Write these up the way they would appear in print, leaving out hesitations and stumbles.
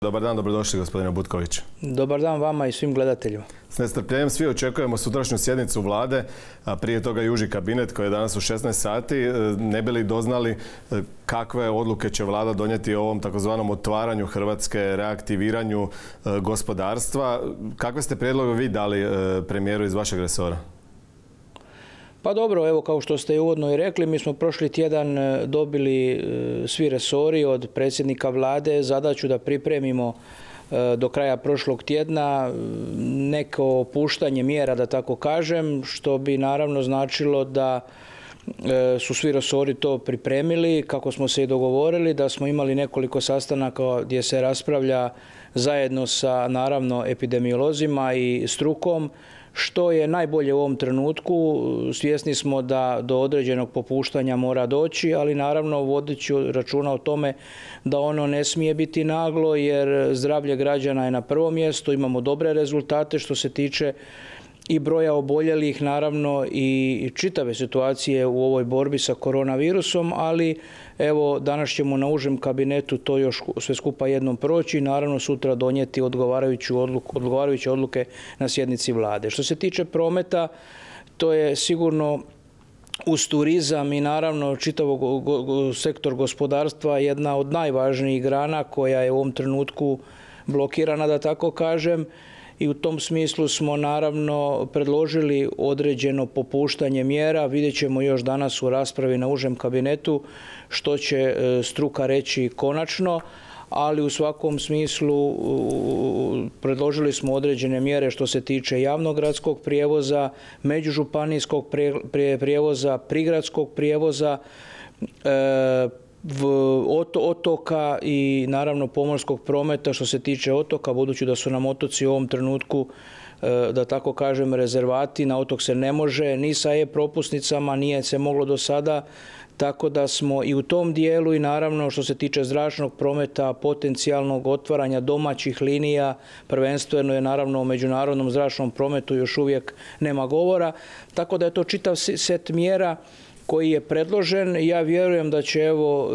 Dobar dan, dobrodošli gospodine Butković. Dobar dan vama i svim gledateljima. S nestrpljenjem svi očekujemo sutrašnju sjednicu vlade, a prije toga i uži kabinet koji je danas u 16 sati. Ne bi li doznali kakve odluke će vlada donijeti o ovom takozvanom otvaranju Hrvatske, reaktiviranju gospodarstva? Kakve ste prijedloge vi dali premijeru iz vašeg resora? Pa dobro, evo kao što ste i uvodno i rekli, mi smo prošli tjedan dobili svi resori od predsjednika vlade zadaću da pripremimo do kraja prošlog tjedna neko opuštanje mjera, da tako kažem, što bi naravno značilo da su svi resori to pripremili, kako smo se i dogovorili, da smo imali nekoliko sastanaka gdje se raspravlja zajedno sa naravno epidemiolozima i strukom, što je najbolje u ovom trenutku. Svjesni smo da do određenog popuštanja mora doći, ali naravno vodeći računa o tome da ono ne smije biti naglo, jer zdravlje građana je na prvom mjestu. Imamo dobre rezultate što se tiče i broja oboljelih, naravno i čitave situacije u ovoj borbi sa koronavirusom, ali evo danas ćemo na užem kabinetu to još sve skupa jednom proći i naravno sutra donijeti odgovarajuće odluke na sjednici vlade. Što se tiče prometa, to je sigurno uz turizam i naravno čitavog sektor gospodarstva jedna od najvažnijih grana koja je u ovom trenutku blokirana, da tako kažem. I u tom smislu smo naravno predložili određeno popuštanje mjera. Vidjet ćemo još danas u raspravi na užem kabinetu što će struka reći konačno, ali u svakom smislu predložili smo određene mjere što se tiče javnog gradskog prijevoza, međužupanijskog prijevoza, prigradskog prijevoza, otoka i naravno pomorskog prometa. Što se tiče otoka, budući da su nam otoci u ovom trenutku, da tako kažem, rezervati, na otok se ne može ni sa e-propusnicama, nije se moglo do sada, tako da smo i u tom dijelu i naravno što se tiče zračnog prometa, potencijalnog otvaranja domaćih linija, prvenstveno je naravno o međunarodnom zračnom prometu još uvijek nema govora, tako da je to čitav set mjera koji je predložen. Ja vjerujem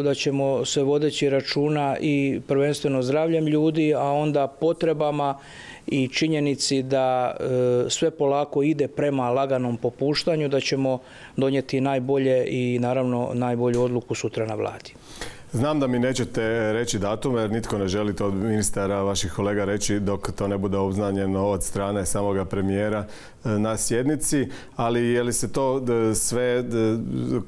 da ćemo se vodeći računa i prvenstveno zdravljem ljudi, a onda potrebama i činjenici da sve polako ide prema laganom popuštanju, da ćemo donijeti najbolje i naravno najbolju odluku sutra na vladi. Znam da mi nećete reći datum, jer nitko ne želi to od ministara, vaših kolega, reći dok to ne bude obznanjeno od strane samoga premijera na sjednici, ali je li se to sve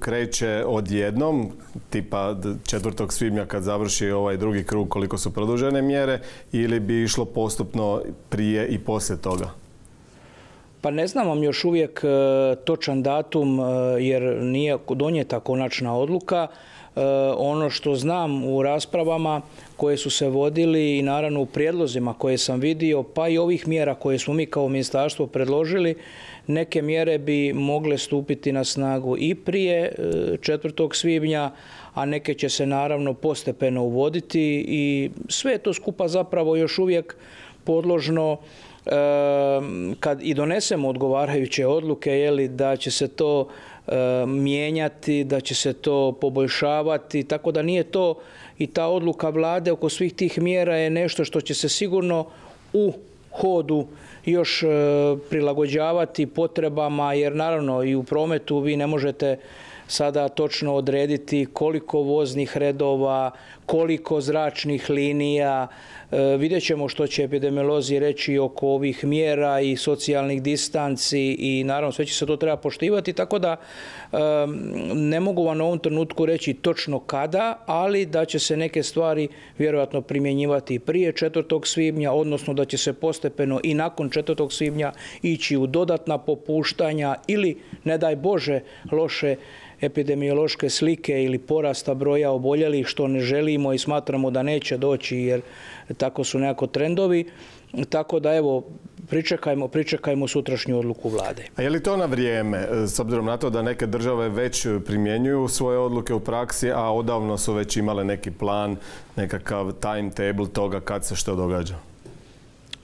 kreće odjednom, tipa 4. svibnja kad završi ovaj drugi krug koliko su produžene mjere, ili bi išlo postupno prije i poslije toga? Pa ne znam vam još uvijek točan datum jer nije donijeta konačna odluka. Ono što znam u raspravama koje su se vodili i naravno u prijedlozima koje sam vidio, pa i ovih mjera koje smo mi kao ministarstvo predložili, neke mjere bi mogle stupiti na snagu i prije 4. svibnja, a neke će se naravno postepeno uvoditi i sve je to skupa zapravo još uvijek podložno kad i donesemo odgovarajuće odluke, da će se to mijenjati, da će se to poboljšavati, tako da nije to i ta odluka vlade oko svih tih mjera je nešto što će se sigurno u hodu još prilagođavati potrebama, jer naravno i u prometu vi ne možete sada točno odrediti koliko voznih redova, koliko zračnih linija. Vidjet ćemo što će epidemiolozi reći oko ovih mjera i socijalnih distanci i naravno sve će se to treba poštivati, tako da ne mogu vam u ovom trenutku reći točno kada, ali da će se neke stvari vjerojatno primjenjivati prije 4. svibnja, odnosno da će se postepeno i nakon 4. svibnja ići u dodatna popuštanja ili, ne daj Bože, loše epidemiološke slike ili porasta broja oboljelih, što ne želimo i smatramo da neće doći jer tako su nekako trendovi. Tako da evo, pričekajmo sutrašnju odluku vlade. A je li to na vrijeme, s obzirom na to da neke države već primjenjuju svoje odluke u praksi, a odavno su već imale neki plan, nekakav timetable toga kad se što događa?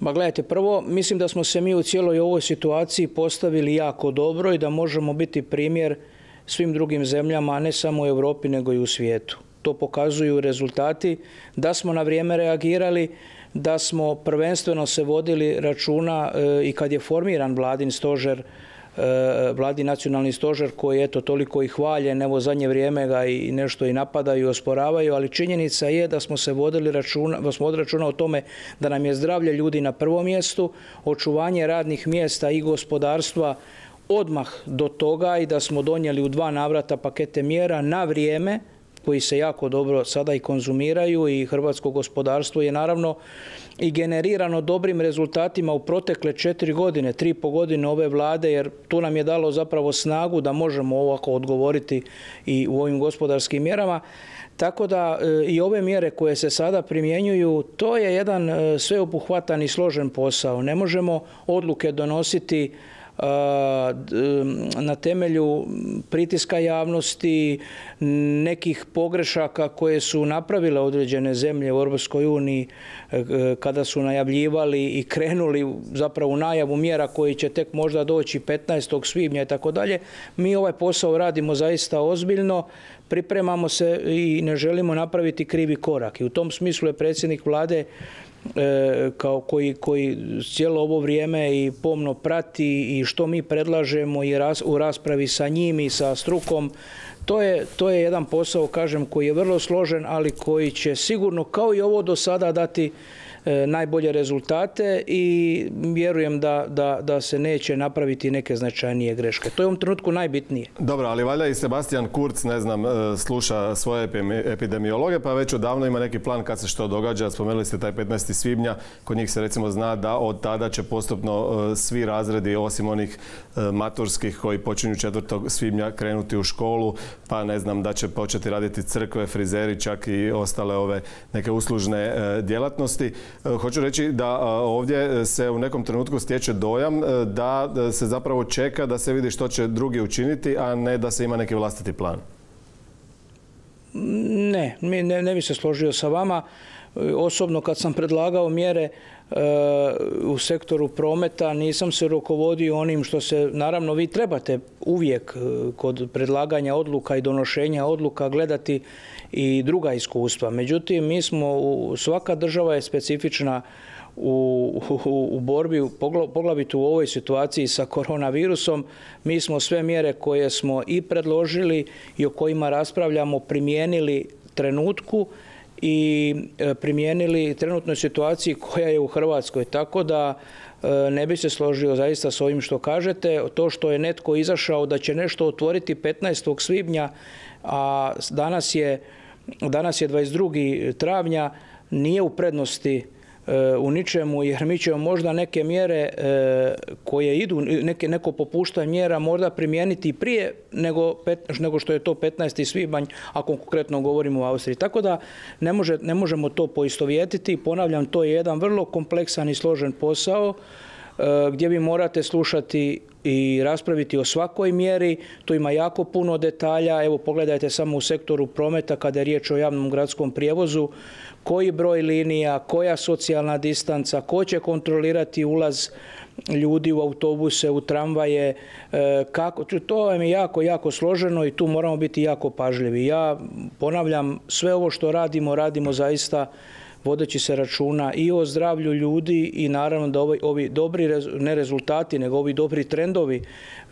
Ma gledajte, prvo, mislim da smo se mi u cijeloj ovoj situaciji postavili jako dobro i da možemo biti primjer svim drugim zemljama, a ne samo u Europi nego i u svijetu. to pokazuju rezultati, da smo na vrijeme reagirali, da smo prvenstveno se vodili računa i kad je formiran vladin stožer, Vladin nacionalni stožer koji je toliko i hvaljen, evo zadnje vrijeme ga i nešto i napadaju i osporavaju, ali činjenica je da smo se vodili računa o tome da nam je zdravlje ljudi na prvom mjestu, očuvanje radnih mjesta i gospodarstva odmah do toga i da smo donijeli u 2 navrata pakete mjera na vrijeme koji se jako dobro sada i konzumiraju i hrvatsko gospodarstvo je naravno i generirano dobrim rezultatima u protekle 4 godine, 3,5 godine ove vlade, jer tu nam je dalo zapravo snagu da možemo ovako odgovoriti i u ovim gospodarskim mjerama. Tako da i ove mjere koje se sada primjenjuju, to je jedan sveobuhvatan i složen posao. Ne možemo odluke donositi na temelju pritiska javnosti, nekih pogrešaka koje su napravile određene zemlje u Europskoj uniji kada su najavljivali i krenuli zapravo u najavu mjera koji će tek možda doći 15. svibnja i tako dalje. Mi ovaj posao radimo zaista ozbiljno, pripremamo se i ne želimo napraviti krivi korak. I u tom smislu je predsjednik vlade koji cijelo ovo vrijeme i pomno prati i što mi predlažemo i u raspravi sa njim i sa strukom. To je jedan posao, kažem, koji je vrlo složen, ali koji će sigurno, kao i ovo do sada, dati najbolje rezultate i vjerujem da se neće napraviti neke značajnije greške. To je u ovom trenutku najbitnije. Dobro, ali valjda i Sebastian Kurz, ne znam, sluša svoje epidemiologe, pa već odavno ima neki plan kad se što događa. Spomenuli ste taj 15. svibnja, kod njih se recimo zna da od tada će postupno svi razredi, osim onih maturskih koji počinju 4. svibnja krenuti u školu, pa ne znam da će početi raditi crkve, frizeri, čak i ostale ove neke uslužne djelatnosti. Hoću reći da ovdje se u nekom trenutku stječe dojam da se zapravo čeka da se vidi što će drugi učiniti, a ne da se ima neki vlastiti plan. Ne bi se složio sa vama. Osobno kad sam predlagao mjere u sektoru prometa nisam se rukovodio onim što se, naravno vi trebate uvijek kod predlaganja odluka i donošenja odluka gledati i druga iskustva. Međutim, svaka država je specifična u borbi, poglavito u ovoj situaciji sa koronavirusom. Mi smo sve mjere koje smo i predložili i o kojima raspravljamo primijenili trenutku i primijenili trenutnoj situaciji koja je u Hrvatskoj. Tako da ne bi se složio zaista s ovim što kažete. To što je netko izašao da će nešto otvoriti 15. svibnja, a danas je 22. travnja, nije u prednosti u ničemu, jer mi ćemo možda neke mjere koje idu, neko popuštanje mjera možda primijeniti prije nego što je to 15. svibanj, ako konkretno govorimo o Austriji. Tako da ne možemo to poistovjetiti. Ponavljam, to je jedan vrlo kompleksan i složen posao gdje vi morate slušati i raspraviti o svakoj mjeri. Tu ima jako puno detalja. Evo pogledajte samo u sektoru prometa kada je riječ o javnom gradskom prijevozu, koji broj linija, koja socijalna distanca, ko će kontrolirati ulaz ljudi u autobuse, u tramvaje, to je jako složeno i tu moramo biti jako pažljivi. Ja ponavljam, sve ovo što radimo zaista vodeći se računa i o zdravlju ljudi i naravno da ovi dobri, ne rezultati, nego ovi dobri trendovi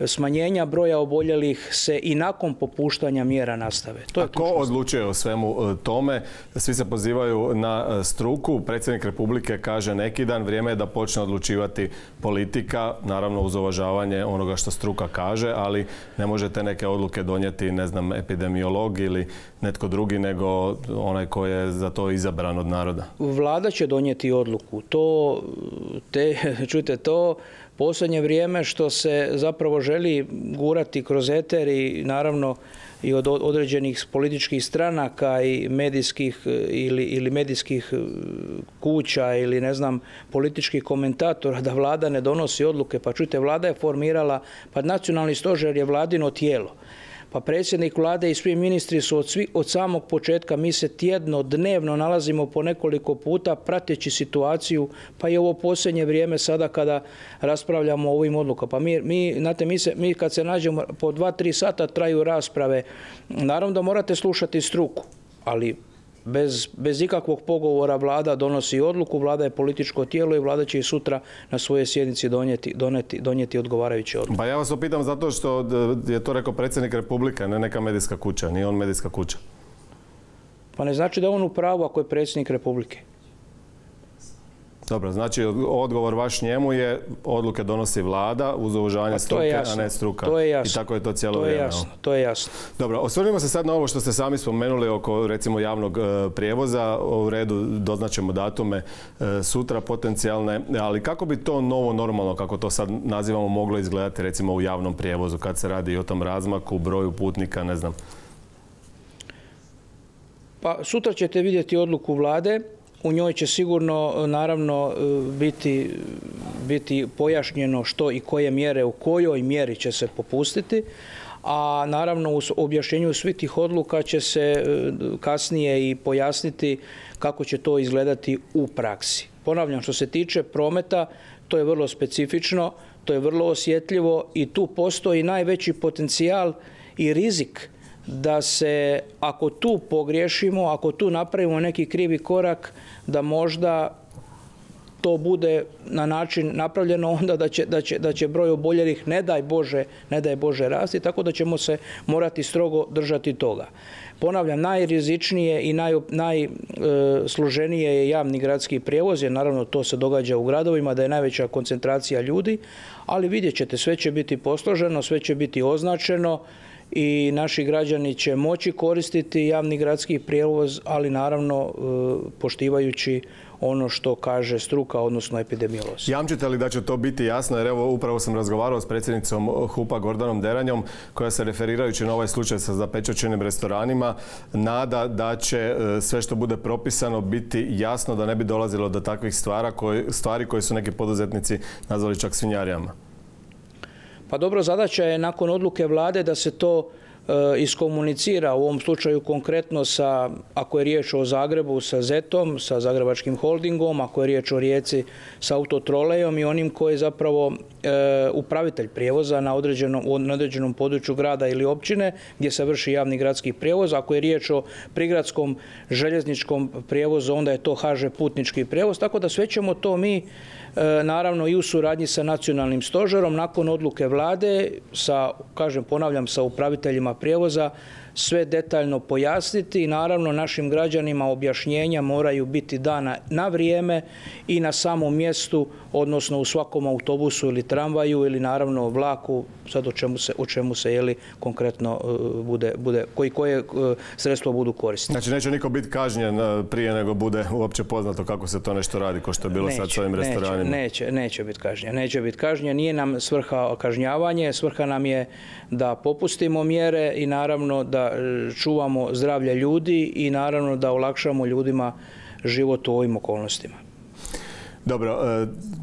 smanjenja broja oboljelih se i nakon popuštanja mjera nastave. A ko odlučuje o svemu tome? Svi se pozivaju na struku. Predsjednik Republike kaže neki dan, vrijeme je da počne odlučivati politika, naravno uz uvažavanje onoga što struka kaže, ali ne možete neke odluke donijeti, ne znam, epidemiolog ili netko drugi nego onaj koji je za to izabran od naroda. Vlada će donijeti odluku. Čujte, to posljednje vrijeme što se zapravo želi gurati kroz eter i naravno i od određenih političkih stranaka i medijskih ili medijskih kuća ili ne znam političkih komentatora da vlada ne donosi odluke. Pa čujte, vlada je formirala, pa nacionalni stožer je vladino tijelo. Pa predsjednik vlade i svi ministri su od samog početka, mi se tjedno, dnevno nalazimo po nekoliko puta prateći situaciju, pa i ovo posljednje vrijeme sada kada raspravljamo o ovim odlukama. Pa mi kad se nađemo po 2-3 sata traju rasprave, naravno da morate slušati struku. ali bez ikakvog pogovora Vlada donosi odluku, Vlada je političko tijelo i Vlada će i sutra na svojoj sjednici donijeti odgovarajuće odluke. Pa ja vas opitam zato što je to rekao predsjednik Republike, ne neka medijska kuća, nije on medijska kuća. Pa ne znači da je on u pravu ako je predsjednik Republike. Dobro, znači odgovor vaš njemu je odluke donosi Vlada uz uvažavanje struke, a ne struka. To je jasno. I tako je to cijelo vrijeme. To je jasno. Dobro, osvrnimo se sad na ovo što ste sami spomenuli oko recimo javnog prijevoza. U redu doznaćemo datume sutra potencijalne, ali kako bi to novo normalno, kako to sad nazivamo, moglo izgledati recimo u javnom prijevozu kad se radi i o tom razmaku, broju putnika, ne znam? Pa sutra ćete vidjeti odluku Vlade. U njoj će sigurno, naravno, biti pojašnjeno što i koje mjere, u kojoj mjeri će se popustiti, a naravno u objašnjenju svih tih odluka će se kasnije i pojasniti kako će to izgledati u praksi. Ponavljam, što se tiče prometa, to je vrlo specifično, to je vrlo osjetljivo i tu postoji najveći potencijal i rizik da se, ako tu pogriješimo, ako tu napravimo neki krivi korak, da možda to bude na način napravljeno onda da će broj oboljelih, ne daj Bože rasti, tako da ćemo se morati strogo držati toga. Ponavljam, najrizičnije i najsloženije je javni gradski prijevoz, jer naravno to se događa u gradovima, da je najveća koncentracija ljudi, ali vidjet ćete, sve će biti posloženo, sve će biti označeno i naši građani će moći koristiti javni gradski prijevoz, ali naravno poštivajući ono što kaže struka, odnosno epidemiolozi. Jamčite li da će to biti jasno? Jer evo, upravo sam razgovarao s predsjednicom HUP-a Gordanom Deranjom, koja se referirajući na ovaj slučaj sa zapečaćenim restoranima nada da će sve što bude propisano biti jasno, da ne bi dolazilo do takvih stvari koje su neki poduzetnici nazvali čak svinjarijama. Pa dobro, zadaća je nakon odluke Vlade da se to iskomunicira, u ovom slučaju konkretno sa, ako je riječ o Zagrebu, sa ZET-om, sa Zagrebačkim holdingom, ako je riječ o Rijeci sa Autotrolejom i onim koji je zapravo upravitelj prijevoza na određenom području grada ili općine gdje se vrši javni gradski prijevoz. Ako je riječ o prigradskom željezničkom prijevozu, onda je to HŽ putnički prijevoz, tako da sve ćemo to mi naravno i u suradnji sa nacionalnim stožerom nakon odluke Vlade, ponavljam, sa upraviteljima prijevoza, sve detaljno pojasniti i naravno našim građanima objašnjenja moraju biti dana na vrijeme i na samom mjestu, odnosno u svakom autobusu ili tramvaju ili naravno vlaku, sad o čemu se konkretno koje sredstvo budu koristiti. Znači neće niko biti kažnjen prije nego bude uopće poznato kako se to nešto radi, ko što je bilo sad s ovim restoranima? Neće biti kažnjen. Nije nam svrha kažnjavanje, svrha nam je da popustimo mjere i naravno da čuvamo zdravlje ljudi i naravno da olakšamo ljudima život u ovim okolnostima. Dobro,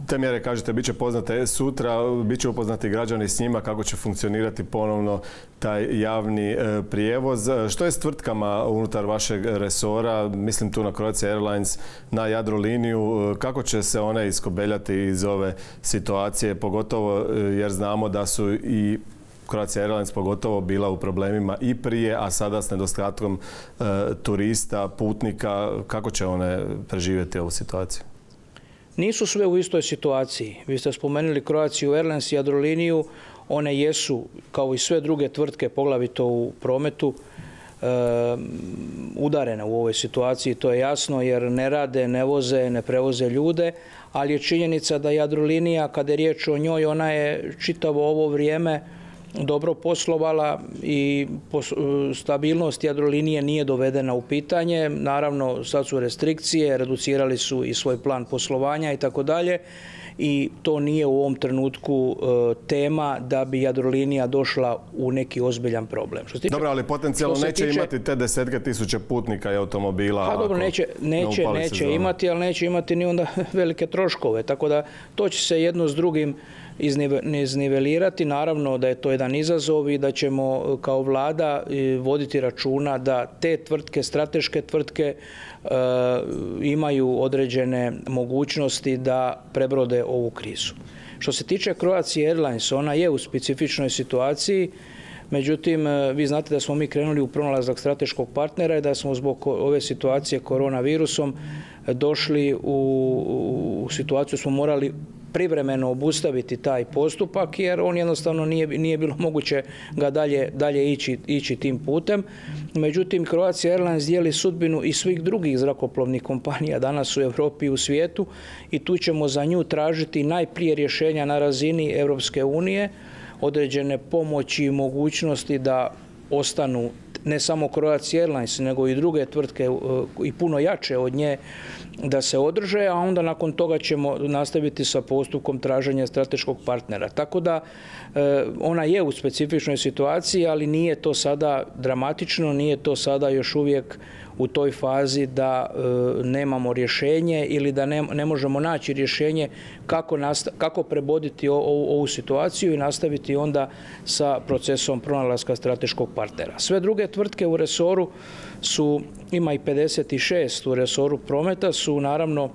te mjere, kažete, bit će poznate sutra, bit će upoznati građani s njima kako će funkcionirati ponovno taj javni prijevoz. Što je s tvrtkama unutar vašeg resora, mislim tu na Croatia Airlines, na Jadroliniju, kako će se one iskobeljati iz ove situacije, pogotovo jer znamo da su i Croatia Airlines pogotovo bila u problemima i prije, a sada s nedostatkom turista, putnika, kako će one preživjeti ovu situaciju? Nisu sve u istoj situaciji. Vi ste spomenuli Croatia Airlines i Jadroliniju, one jesu, kao i sve druge tvrtke, poglavito u prometu, udarene u ovoj situaciji, to je jasno, jer ne rade, ne voze, ne prevoze ljude, ali je činjenica da Jadrolinija, kada je riječ o njoj, ona je čitavo ovo vrijeme dobro poslovala i stabilnost Jadrolinije nije dovedena u pitanje. Naravno, sad su restrikcije, reducirali su i svoj plan poslovanja i tako dalje. I to nije u ovom trenutku tema da bi Jadrolinija došla u neki ozbiljan problem. Dobro, ali potencijalno neće imati te desetke tisuće putnika i automobila. Pa dobro, neće imati, ali neće imati ni onda velike troškove. Tako da to će se jedno s drugim iznivelirati. Naravno da je to jedan izazov i da ćemo kao Vlada voditi računa da te tvrtke, strateške tvrtke, imaju određene mogućnosti da prebrode ovu krizu. Što se tiče Croatia Airlines, ona je u specifičnoj situaciji. Međutim, vi znate da smo mi krenuli u pronalazak strateškog partnera i da smo zbog ove situacije koronavirusom došli u situaciju, smo morali privremeno obustaviti taj postupak jer on jednostavno nije bilo moguće ga dalje ići tim putem. Međutim, Croatia Airlines dijeli sudbinu i svih drugih zrakoplovnih kompanija danas u Europi i u svijetu i tu ćemo za nju tražiti najprije rješenja na razini Europske unije, određene pomoći i mogućnosti da ostanu ne samo Croatia Airlines, nego i druge tvrtke i puno jače od nje da se održe, a onda nakon toga ćemo nastaviti sa postupkom traženja strateškog partnera. Tako da ona je u specifičnoj situaciji, ali nije to sada dramatično, nije to sada još uvijek u toj fazi da nemamo rješenje ili da ne možemo naći rješenje kako preboditi ovu situaciju i nastaviti onda sa procesom pronalaska strateškog partnera. Sve druge tvrtke u resoru ima i 56 u resoru prometa, su naravno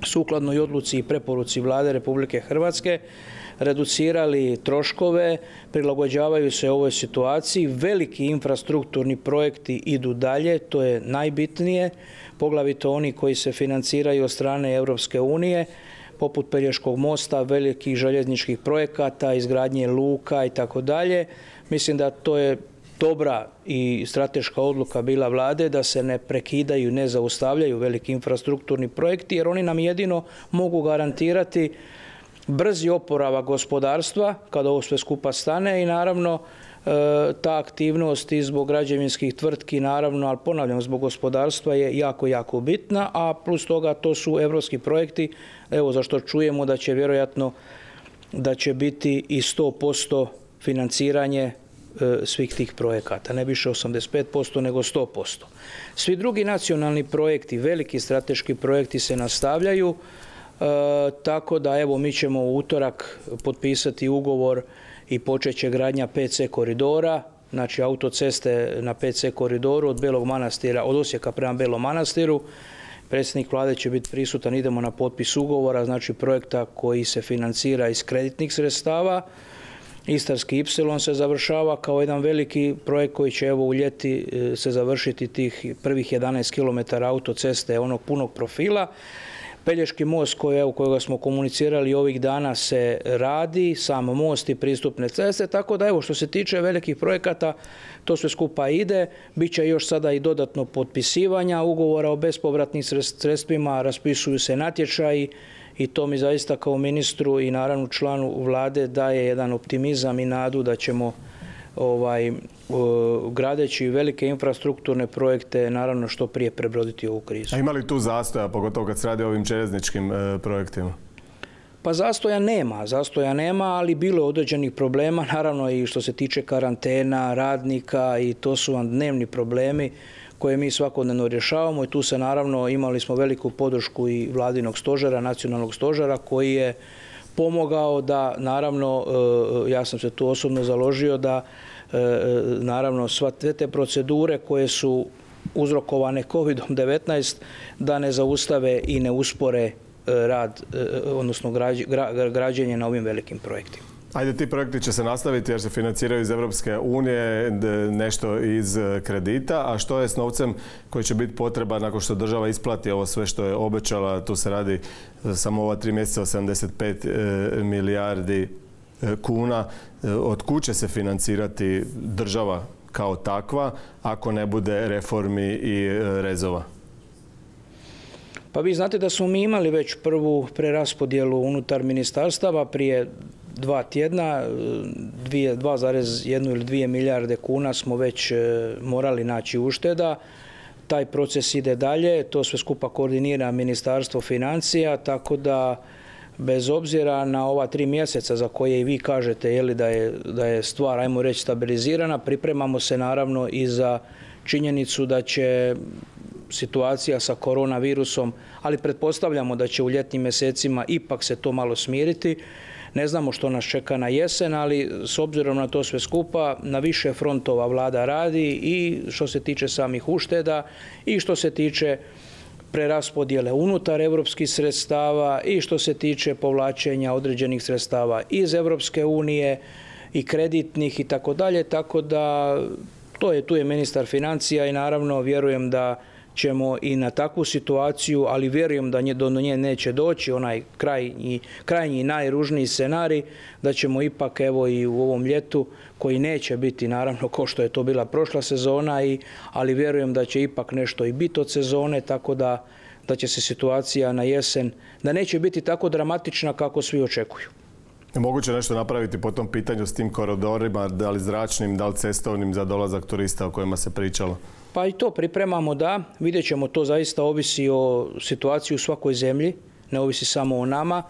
sukladno i odluci i preporuci Vlade Republike Hrvatske reducirali troškove, prilagođavaju se ovoj situaciji. Veliki infrastrukturni projekti idu dalje, to je najbitnije, poglavito oni koji se financiraju od strane Europske unije, poput Pelješkog mosta, velikih željezničkih projekata, izgradnje luka i tako dalje. Mislim da to je dobra i strateška odluka bila Vlade da se ne prekidaju, ne zaustavljaju veliki infrastrukturni projekti jer oni nam jedino mogu garantirati brzi oporavak gospodarstva kada ovo sve skupa stane i naravno ta aktivnost i zbog građevinskih tvrtki naravno, ali ponavljam, zbog gospodarstva je jako bitna, a plus toga to su europski projekti, evo za što čujemo da će vjerojatno da će biti i 100% financiranje svih tih projekata, ne više 85% nego 100%. Svi drugi nacionalni projekti, veliki strateški projekti se nastavljaju, tako da evo mi ćemo u utorak potpisati ugovor i počet će gradnja 5C koridora, znači autoceste na 5C koridoru od Belog Manastira, od Osijeka prema Belom Manastiru. Predsjednik Vlade će biti prisutan, idemo na potpis ugovora, znači projekta koji se financira iz kreditnih sredstava. Istarski Ipsilon se završava kao jedan veliki projekt koji će evo u ljeti se završiti tih prvih 11 km autoceste onog punog profila. Pelješki most kojega smo komunicirali ovih dana se radi, sam most i pristupne ceste, tako da evo što se tiče velikih projekata to sve skupa ide, bit će još sada i dodatno potpisivanja ugovora o bespovratnim sredstvima, raspisuju se natječaji i to mi zaista kao ministru i naravno članu Vlade daje jedan optimizam i nadu da ćemo gradeći velike infrastrukturne projekte naravno što prije prebroditi ovu krizu. A ima li tu zastoja, pogotovo kad se radi o ovim željezničkim projektima? Pa zastoja nema, ali bilo je određenih problema, naravno i što se tiče karantena, radnika i to su vam dnevni problemi koje mi svakodnevno rješavamo i tu se naravno imali smo veliku podršku i vladinog stožera, nacionalnog stožera koji je pomogao da naravno, ja sam se tu osobno založio da naravno sve te procedure koje su uzrokovane COVID-19 da ne zaustave i ne uspore rad, odnosno građenje na ovim velikim projektima. Ajde, ti projekti će se nastaviti jer se financiraju iz Europske unije, nešto iz kredita, a što je s novcem koji će biti potreban nakon što država isplati ovo sve što je obećala? Tu se radi samo ova 3 mjeseca o 75 milijardi kuna. Od kud će se financirati država kao takva ako ne bude reformi i rezova? Pa vi znate da smo mi imali već prvu preraspodjelu unutar ministarstava prije 2 tjedna, 2,1 ili 2 milijarde kuna smo već morali naći ušteda. Taj proces ide dalje, to sve skupa koordinira Ministarstvo financija, tako da bez obzira na ova 3 mjeseca za koje i vi kažete da je stvar, ajmo reći, stabilizirana, pripremamo se naravno i za činjenicu da će situacija sa koronavirusom, ali pretpostavljamo da će u ljetnim mjesecima ipak se to malo smiriti. Ne znamo što nas čeka na jesen, ali s obzirom na to sve skupa, na više frontova Vlada radi i što se tiče samih ušteda i što se tiče preraspodjele unutar europskih sredstava i što se tiče povlačenja određenih sredstava iz Europske unije i kreditnih i tako dalje, tako da tu je ministar financija i naravno vjerujem da ćemo i na takvu situaciju, ali vjerujem da do nje neće doći, onaj krajnji i najružniji scenarij, da ćemo ipak evo i u ovom ljetu, koji neće biti naravno kao što je to bila prošla sezona, ali vjerujem da će ipak nešto i biti od sezone, tako da će se situacija na jesen, da neće biti tako dramatična kako svi očekuju. Je moguće nešto napraviti po tom pitanju s tim koridorima, da li zračnim, da li cestovnim za dolazak turista o kojima se pričalo? Pa i to pripremamo, da. Vidjet ćemo, to zaista ovisi o situaciji u svakoj zemlji, ne ovisi samo o nama,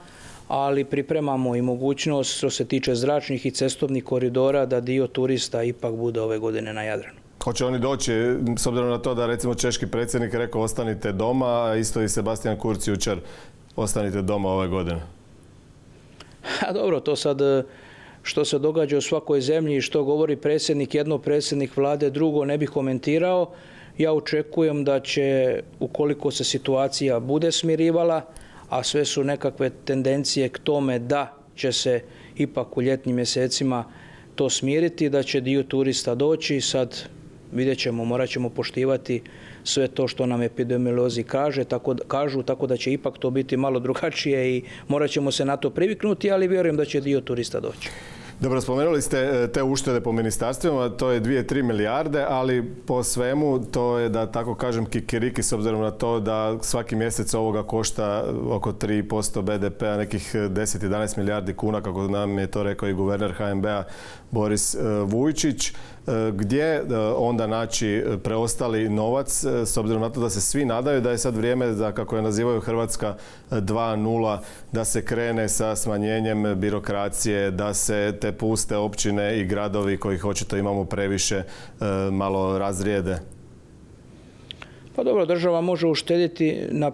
ali pripremamo i mogućnost što se tiče zračnih i cestovnih koridora da dio turista ipak bude ove godine na Jadranu. Hoće oni doći, s obzirom na to da recimo češki predsjednik rekao ostanite doma, a isto i Sebastian Kurz jučer ostanite doma ove godine? A dobro, to sad što se događa u svakoj zemlji i što govori predsjednik jedno, predsjednik vlade drugo, ne bih komentirao. Ja očekujem da će, ukoliko se situacija bude smirivala, a sve su nekakve tendencije k tome da će se ipak u ljetnim mjesecima to smiriti, da će dio turista doći. Sad vidjet ćemo, morat ćemo poštivati sve to što nam epidemiolozi kažu, tako da će ipak to biti malo drugačije i morat ćemo se na to priviknuti, ali vjerujem da će dio turista doći. Dobro, spomenuli ste te uštede po ministarstvima, to je 2-3 milijarde, ali po svemu to je, da tako kažem, kikiriki, s obzirom na to da svaki mjesec ovoga košta oko 3% BDP-a, nekih 10-11 milijardi kuna, kako nam je to rekao i guverner HNB-a Boris Vujčić. Gdje onda naći preostali novac, s obzirom na to da se svi nadaju da je sad vrijeme da, kako je nazivaju Hrvatska 2.0, da se krene sa smanjenjem birokracije, da se te puste općine i gradovi kojih očito imamo previše malo razrijede? Pa dobro, država može uštediti na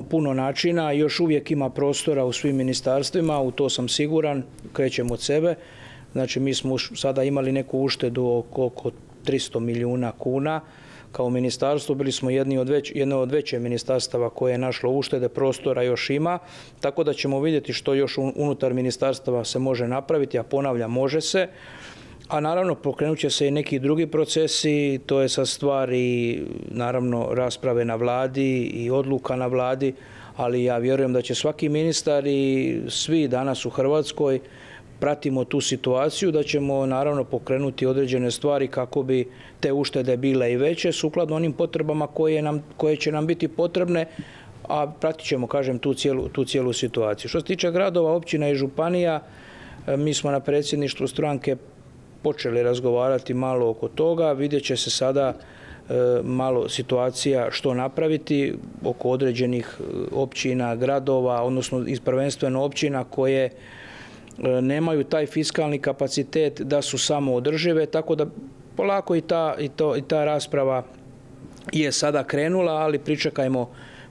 puno načina, još uvijek ima prostora u svim ministarstvima, u to sam siguran, krećem od sebe. Znači, mi smo sada imali neku uštedu oko 300 milijuna kuna. Kao ministarstvo bili smo jedno od veće ministarstava koje je našlo uštede, prostora još ima. Tako da ćemo vidjeti što još unutar ministarstava se može napraviti, a ponavljam, može se. A naravno, pokrenut će se i neki drugi procesi, to je sad stvar i naravno rasprave na vladi i odluka na vladi, ali ja vjerujem da će svaki ministar i svi danas u Hrvatskoj pratimo tu situaciju, da ćemo naravno pokrenuti određene stvari kako bi te uštede bile i veće, sukladno onim potrebama koje će nam biti potrebne, a pratit ćemo, kažem, tu cijelu situaciju. Što se tiče gradova, općina i županija, mi smo na predsjedništvu stranke počeli razgovarati malo oko toga, vidjet će se sada malo situacija što napraviti oko određenih općina, gradova, odnosno prvenstveno općina koje nemaju taj fiskalni kapacitet da su samo održive, tako da polako i ta rasprava je sada krenula, ali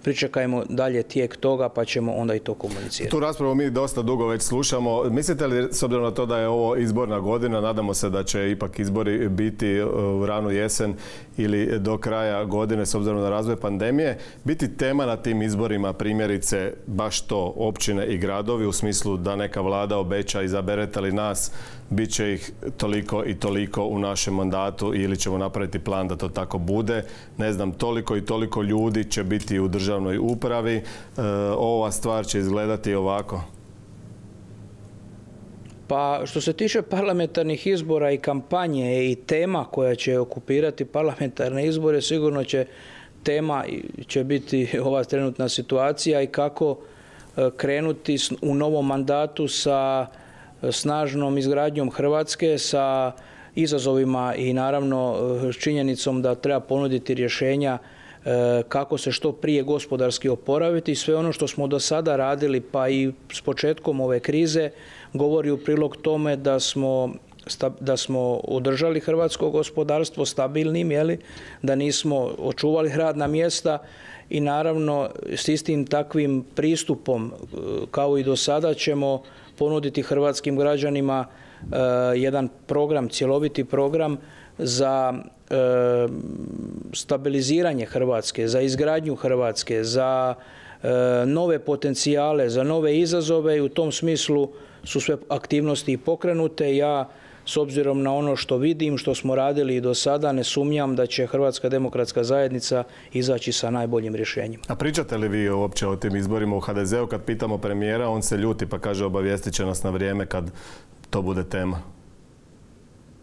pričekajmo dalje tijek toga pa ćemo onda i to komunicirati. Tu raspravu mi dosta dugo već slušamo. Mislite li, s obzirom na to da je ovo izborna godina, nadamo se da će ipak izbori biti u ranu jesen ili do kraja godine, s obzirom na razvoj pandemije, biti tema na tim izborima primjerice baš to općine i gradovi, u smislu da neka vlada obeća izaberete li nas, bit će ih toliko i toliko u našem mandatu ili ćemo napraviti plan da to tako bude. Ne znam, toliko i toliko ljudi će biti u državnoj upravi. Ova stvar će izgledati ovako. Pa što se tiče parlamentarnih izbora i kampanje i tema koja će okupirati parlamentarne izbore, sigurno tema će biti ova trenutna situacija i kako krenuti u novom mandatu sa snažnom izgradnjom Hrvatske, sa izazovima i naravno s činjenicom da treba ponuditi rješenja kako se što prije gospodarski oporaviti. Sve ono što smo do sada radili, pa i s početkom ove krize, govori u prilog tome da smo održali hrvatsko gospodarstvo stabilnim, da nismo očuvali radna mjesta i naravno s istim takvim pristupom kao i do sada ćemo ponuditi hrvatskim građanima jedan program, cjeloviti program za stabiliziranje Hrvatske, za izgradnju Hrvatske, za nove potencijale, za nove izazove i u tom smislu su sve aktivnosti pokrenute. Ja s obzirom na ono što vidim, što smo radili i do sada, ne sumnjam da će Hrvatska demokratska zajednica izaći sa najboljim rješenjima. A pričate li vi uopće o tim izborima u HDZ-u? Kad pitamo premijera, on se ljuti pa kaže obavijestit će nas na vrijeme kad to bude tema.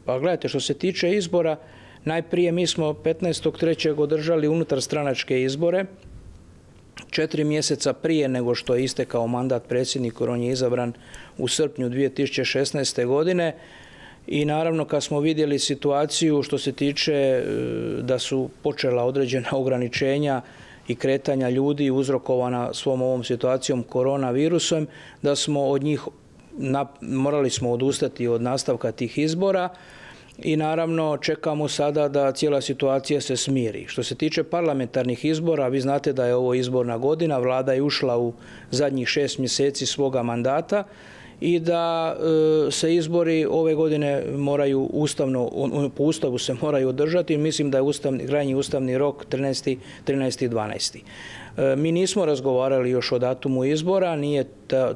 Pa gledajte, što se tiče izbora, najprije mi smo 15.3. održali unutarstranačke izbore, 4 mjeseca prije nego što je istekao mandat predsjedniku, jer on je izabran u srpnju 2016. godine. I naravno kad smo vidjeli situaciju što se tiče da su počela određena ograničenja i kretanja ljudi uzrokovana svom ovom situacijom koronavirusom, da smo od njih morali smo odustati od nastavka tih izbora i naravno čekamo sada da cijela situacija se smiri. Što se tiče parlamentarnih izbora, vi znate da je ovo izborna godina, vlada je ušla u zadnjih 6 mjeseci svoga mandata i da se izbori ove godine moraju po Ustavu se moraju održati. Mislim da je krajnji ustavni rok 13.12. Mi nismo razgovarali još o datumu izbora,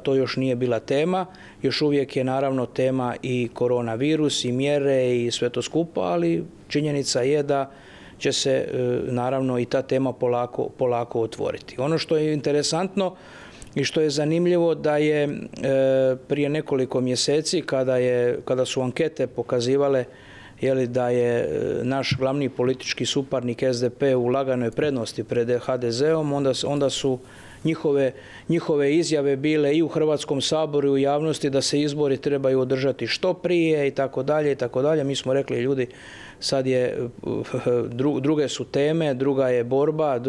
to još nije bila tema, još uvijek je naravno tema i koronavirus i mjere i sve to skupa, ali činjenica je da će se naravno i ta tema polako otvoriti. Ono što je interesantno i što je zanimljivo da je prije nekoliko mjeseci kada su ankete pokazivale da je naš glavni politički suparnik SDP u laganoj prednosti pred HDZ-om, onda su njihove izjave bile i u Hrvatskom saboru i u javnosti da se izbori trebaju održati što prije i tako dalje i tako dalje. Mi smo rekli ljudi, sad je druge su teme, druga je borba,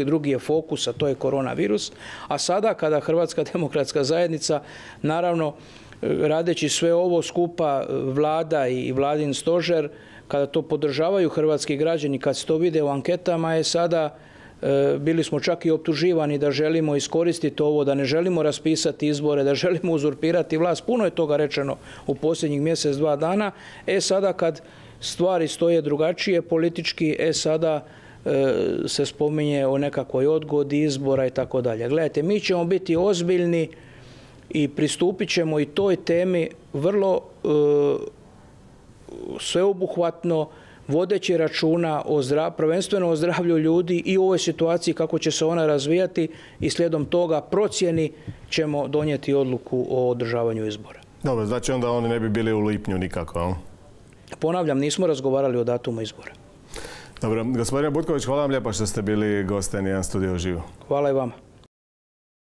drugi je fokus, a to je koronavirus. A sada kada Hrvatska demokratska zajednica naravno radeći sve ovo skupa vlada i vladin stožer, kada to podržavaju hrvatski građani, kad se to vide u anketama, je sada bili smo čak i optuživani da želimo iskoristiti ovo, da ne želimo raspisati izbore, da želimo uzurpirati vlast. Puno je toga rečeno u posljednjih mjesec, 2 dana. Sada kad stvari stoje drugačije politički, sada se spominje o nekakvoj odgodi izbora i tako dalje. Gledajte, mi ćemo biti ozbiljni i pristupit ćemo i toj temi vrlo sveobuhvatno, vodeći računa prvenstveno o zdravlju ljudi i u ovoj situaciji kako će se ona razvijati i slijedom toga procjeni ćemo donijeti odluku o održavanju izbora. Dobro, znači onda oni ne bi bili u lipnju nikako. Ponavljam, nismo razgovarali o datumu izbora. Dobro, gospodine Butković, hvala vam lijepo što ste bili gost N1 Studio uživo. Hvala i vama.